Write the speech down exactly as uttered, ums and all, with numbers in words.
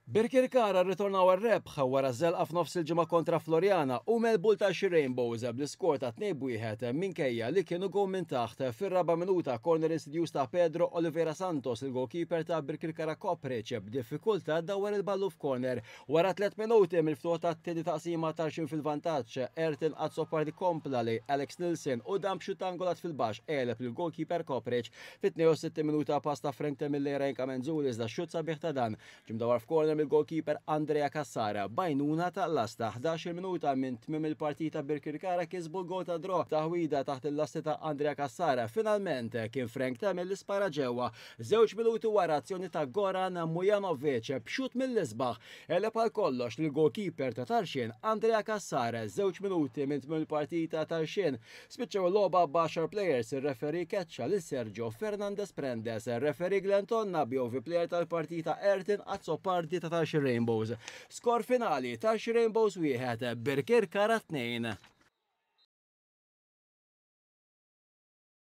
Birkirkara rritornaw għar-rebħ wara żelqa f'nofs il-ġimgħa kontra Floriana u għelbu lil Tarxien Rainbows bl-iskor ta' tnejn b'wieħed minkejja li kienu gowl minn taħt. Fir-raba' minuta, corner insidjuż ta' Pedro Oliveira Santos, il-goalkeeper ta' Birkirkara Kopric b'diffikultà dawar il-ballu f'corner. Wara tliet minuti mill-ftuħ tat-tieni taqsima, Tarxien fil-vantaġġ, Ertin Azzopardi kompla lejn Alex Nilsson u dan b'xutt angolat fil-baxx għeleb il-goalkeeper Kopric. Fit-tnejn u sittin minuta, pass ta' Frank Temille lejn Ryan Camenzuli, iżda xutt sabiħ ta' dan ġie mdawar f'corner mill-goalkeeper Andrea Cassara b'għajnuna ta' lasta. ħdax-il minuta minn tmiem il-partita, Birkirkara kisbu l-gol ta' draw, taħwida taħt il-lasti ta' Andrea Cassara. Finalment kien Frank Temille li spara ġewwa. Żewġ minuti wara, azzjoni ta' Goran Mujanovic, b'xut mill-isbaħ għeleb għal kollox lill-goalkeeper ta' Tarxien Andrea Cassara. Żewġ minuti minn tmiem il-partita, Tarxien spiċċaw il-logħba b'għaxar players, ir-referee keċċa lil Sergio Fernandez Prendes. Referee Glenn Tonna, B O V player tal-partita Ertin Azzopardi ta' Tarxien Rainbows. Skor finali, Tarxien Rainbows wieħed, Birkirkara tnejn.